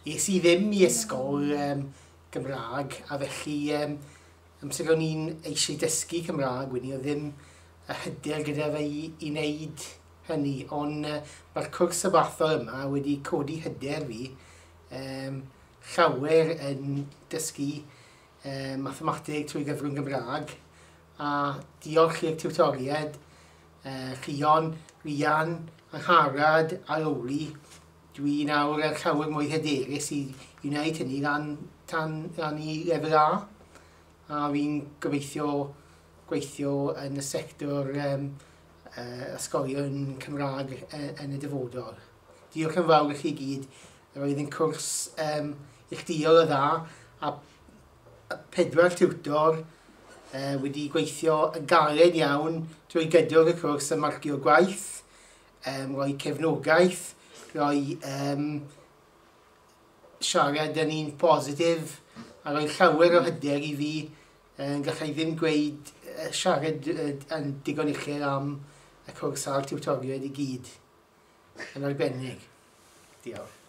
Es i ddim i ysgol Gymraeg, a felly amser o'n i'n eisiau dysgu Cymraeg, wedyn oedd ddim y hyder gyda fe i wneud hynny, ond mae'r cwrs sabathol yma wedi codi hyder fi llawer yn dysgu mathemateg trwy gyfrwng Gymraeg, a diolch i'r tiwtoriaid, Llion, Rhian, Angharad a Lowri, dwi nawr yn llawer mwy hyderus i wneud hynny tan i lefel A, a fi'n gobeithio gweithio yn y sector ysgolion Cymraeg yn y dyfodol. Diolch yn fawr i chi gyd. Roedd yn cwrs neilltuol o dda, a 4 tiwtor wedi gweithio yn galed iawn drwy gydol y cwrs yn marcio gwaith, rhoi cefnogaeth, rhoi siarad yn un positif, a rhoi llawer o hyder i fi. Gallai ddim gweud siarad yn digon uchel am y cwrs a'r tiwtoriaid i gyd yn arbennig. Diolch.